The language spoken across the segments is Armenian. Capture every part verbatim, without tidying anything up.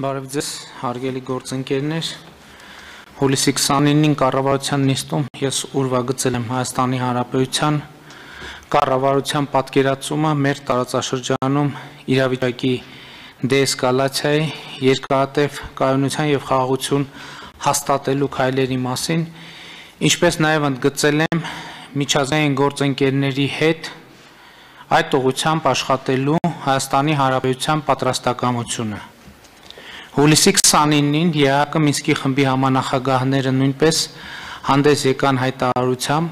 Բարև ձեզ, հարգելի գործընկերներ, հուլիսի քսանինին կառավարության նիստում ես ուրվագծել եմ Հայաստանի Հանրապետության կառավարության պատկերացումը մեր տարածաշրջանում իրավիճակի դեէսկալացիայի, երկարատև կայունության և խաղաղություն հաստատելու քայլերի մասին, ինչպես նաև ընդգծել եմ միջազգային գործընկերների հետ այդ ուղղությամբ աշխատելու Հայաստանի Հանրապետության պատրաստակամությունը։ Հուլիսի քսանինին ԵԱՀԿ Մինսկի խմբի համանախագահները նույնպես հանդես եկան հայտարարությամբ,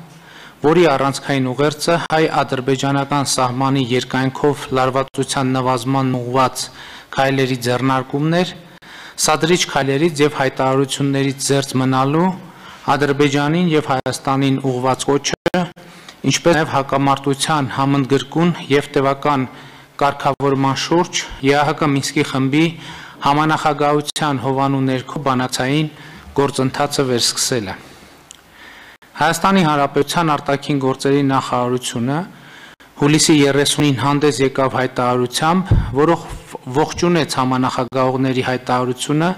որի առանցքային ուղերձը հայ-ադրբեջանական սահմանի երկայնքով լարվածության նվազման ուղղված քայլերի ձեռնարկումն էր, սադրիչ քայլերից և հայտարարություններից զերծ մնալու Ադրբեջանին և Հայաստանին ուղղված կոչը, ինչպես նաև հակամարտության համընդգրկուն և տևական կարգավորման շուրջ ԵԱՀԿ Մինսկի խմբի համանախագահության հովանու ներքո բանակցային գործընթացը վերսկսելը։ Հայաստանի Հանրապետության արտաքին գործերի նախարարությունը հուլիսի երեսունին հանդես եկավ հայտարարությամբ, որով ողջունեց համանախագահողների հայտարարությունը,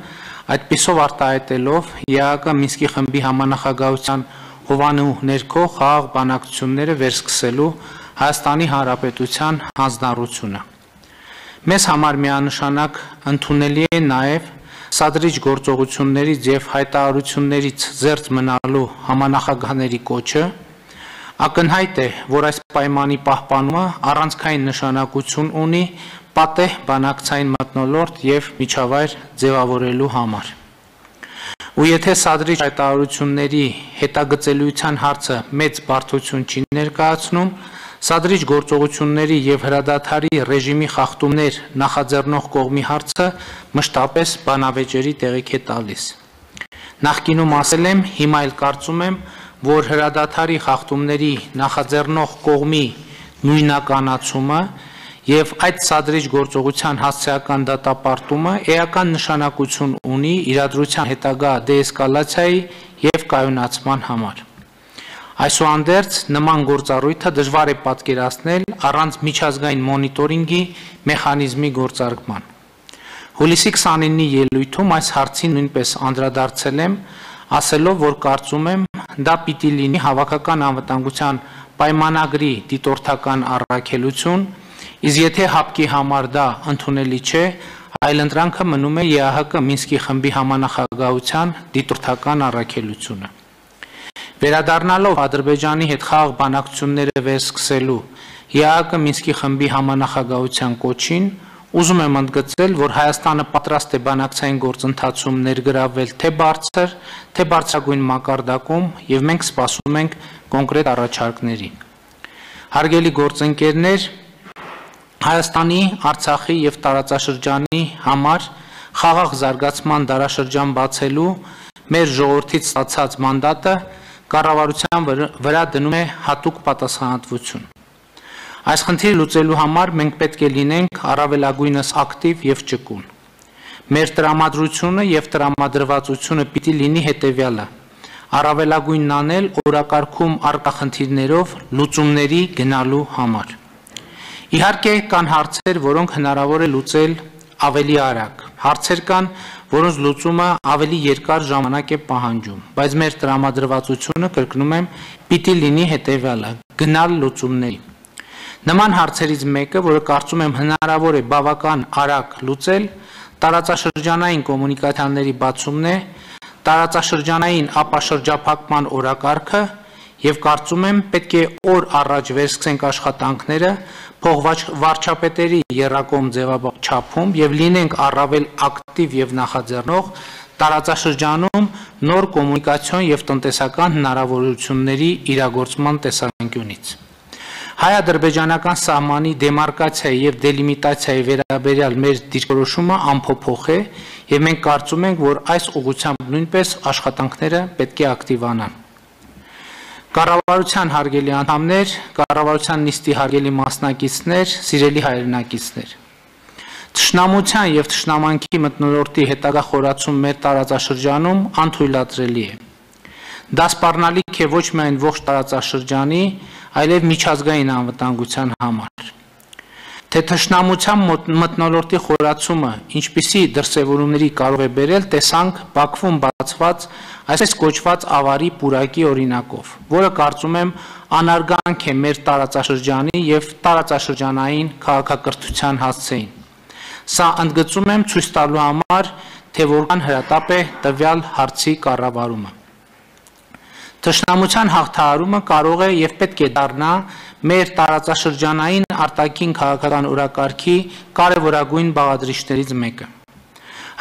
այդպիսով արտահայտելով ԵԱՀԿ Մինսկի խմբի համանախագահության հովանու ներքո խաղաղ բանակցությունները վերսկսելու Հայաստանի Հանրապետության հանձնառությունը։ Մեզ համար միանշանակ ընդունելի է նաև սադրիչ գործողություններից և հայտարարություններից զերծ մնալու համանախագահների կոչը, ակնհայտ է, որ այս պայմանի պահպանումը առանցքային նշանակություն ունի պատեհ բանակցային մթնոլորտ և միջավայր ձևավորելու համար։ Ու եթե սադրիչ հայտարարությունների հետագծելիության հարցը մեծ բարդություն չի ներկայացնում, սադրիչ գործողությունների և հրադադարի ռեժիմի խախտումներ նախաձեռնող կողմի հարցը մշտապես բանավեճերի տեղիք է տալիս։ Նախկինում ասել եմ, հիմա էլ կարծում եմ, որ հրադադարի խախտումների նախաձեռնող կողմի նույնականացումը և այդ սադրիչ գործողության հասցեական դատապարտումը էական նշանակություն ունի իրադրության հետագա դեէսկալացիայի և կայունացման համար։ Այսուհանդերձ նման գործառույթը դժվար է պատկերացնել առանց միջազգային մոնիտորինգի մեխանիզմի գործարկման։ Հուլիսի քսանինի ելույթում այս հարցին նույնպես անդրադարձել եմ, ասելով, որ կարծում եմ, դա պիտի լինի հավաքական անվտանգության պայմանագրի դիտորդական առաքելություն, իսկ եթե ՀԱՊԿ-ի համար դա ընդունելի չէ, այլընտրանքը մնում է ԵԱՀԿ Մինսկի խմբի համանախագահության դիտորդական առաքելությունը։ Վերադառնալով Ադրբեջանի հետ խաղաղ բանակցությունները վերսկսելու ԵԱՀԿ Մինսկի խմբի համանախագահության կոչին, ուզում եմ ընդգծել, որ Հայաստանը պատրաստ է բանակցային գործընթացում ներգրավվել թե բարձր, թե բարձրագույն մակարդակում և մենք սպասում ենք կոնկրետ առաջարկների։ Հարգելի գործընկերներ, Հայաստանի, Արցախի և տարածաշրջանի համար խաղաղ զարգացման դարաշրջան բացելու մեր ժողովրդից ստացած մանդատը կառավարության վրա դնում է հատուկ պատասխանատվություն։ Այս խնդիրը լուծելու համար մենք պետք է լինենք առավելագույնս ակտիվ և ճկուն։ Մեր տրամադրությունը և տրամադրվածությունը պիտի լինի հետևյալը՝ առավելագույնն անել օրակարգում առկա խնդիրներով լուծումների գնալու համար։ Իհարկե կան հարցեր, որոնք հնարավոր է լուծել ավելի արագ, հարցեր կան, որոնց լուծումը ավելի երկար ժամանակ է պահանջում, բայց մեր տրամադրվածությունը, կրկնում եմ, պիտի լինի հետևյալը՝ գնալ լուծումների։ Նման հարցերից մեկը, որը կարծում եմ հնարավոր է բավական արագ լուծել, տարածաշրջանային կոմունիկացիաների բացումն է, տարածաշրջանային ապաշրջափակման օրակարգը և կարծում եմ պետք է օր առաջ վերսկսենք աշխատանքները փոխվարչապետերի եռակողմ ձևաչափում և լինենք առավել ակտիվ և նախաձեռնող տարածաշրջանում նոր կոմունիկացիոն և տնտեսական հնարավորությունների իրագործման տեսանկյունից։ Հայ-ադրբեջանական սահմանի դեմարկացիայի և դելիմիտացիայի վերաբերյալ մեր դիրքորոշումը անփոփոխ է և մենք կարծում ենք, որ այս ուղղությամբ նույնպես աշխատանքները պետք է ակտիվանան։ Կառավարության հարգելի անդամներ, կառավարության նիստի հարգելի մասնակիցներ, սիրելի հայրենակիցներ, թշնամության և թշնամանքի մթնոլորտի հետագա խորացում մեր տարածաշրջանում անթույլատրելի է։ Դա սպառնալիք է ոչ միայն ողջ տարածաշրջանի, այլև միջազգային անվտանգության համար։ թե թշնամության մթնոլորտի խորացումը ինչպիսի դրսևորումների կարող է բերել, տեսանք Բաքվում բացված այսպես կոչված ավարի պուրակի օրինակով, որը կարծում եմ անարգանք է մեր տարածաշրջանի եւ տարածաշրջանային քաղաքակրթության հասցեին։ Սա ընդգծում եմ ցույց տալու համար, թե որքան հրատապ է տվյալ հարցի կառավարումը։ Թշնամության հաղթահարումը կարող է եւ պետք է դառնա մեր տարածաշրջանային արտաքին քաղաքական օրակարգի կարևորագույն բաղադրիչներից մեկը։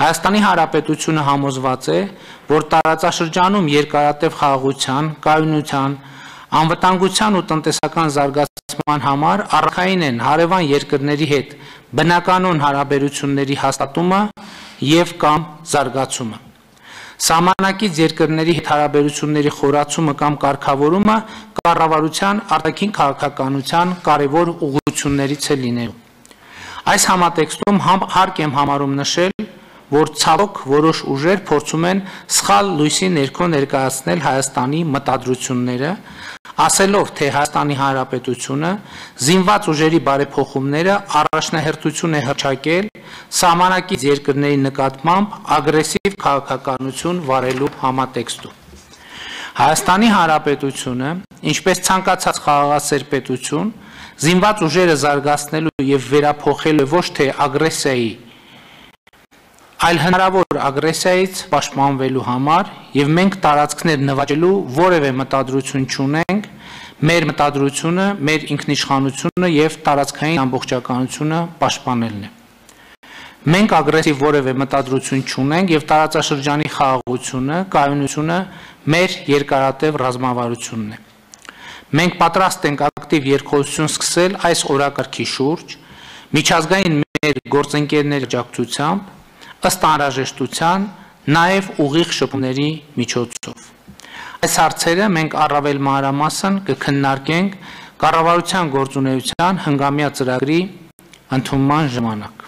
Հայաստանի Հանրապետությունը համոզված է, որ տարածաշրջանում երկարատև խաղաղության, կայունության, անվտանգության ու տնտեսական զարգացման համար առաքային են հարևան երկրների հետ բնականոն հարաբերությունների հաստատումը եւ կամ զարգացումը։ Սահմանակից երկրների հետ հարաբերությունների խորացումը կամ կարգավորումը կառավարության արտաքին քաղաքականության կարևոր ուղղություններից է լինելու։ Այս համատեքստում հարկ եմ համարում նշել, որ ցավոք որոշ ուժեր փորձում են սխալ լույսի ներքո ներկայացնել Հայաստանի մտադրությունները, ասելով, թե Հայաստանի Հանրապետությունը զինված ուժերի բարեփոխումները առաջնահերթություն է հռչակել սահմանակից երկրների նկատմամբ ագրեսիվ քաղաքականություն վարելու համատեքստում։ Հայաստանի Հանրապետությունը, ինչպես ցանկացած խաղաղասեր պետություն, զինված ուժերը զարգացնելու եւ վերափոխելու ոչ թե ագրեսիայի, այլ հնարավոր ագրեսիայից պաշտպանվելու համար եւ մենք տարածքներ նվաճելու որևէ մտադրություն չունենք, մեր մտադրությունը, մեր ինքնիշխանությունը եւ տարածքային ամբողջականությունը պաշտպանելն է։ Մենք ագրեսիվ որևէ մտադրություն չունենք եւ տարածաշրջանի խաղաղությունը, կայունությունը մեր երկարատև ռազմավարությունն է։ Մենք պատրաստ ենք ակտիվ երկխոսություն սկսել այս օրակարգի շուրջ, միջազգային մեր գործընկերների աջակցությամբ, ըստ անհրաժեշտության, նաև ուղիղ շփումների միջոցով։ Այս հարցերը մենք առավել մանրամասն կքննարկենք կառավարության գործունեության հնգամյա ծրագրի ընդունման ժամանակ։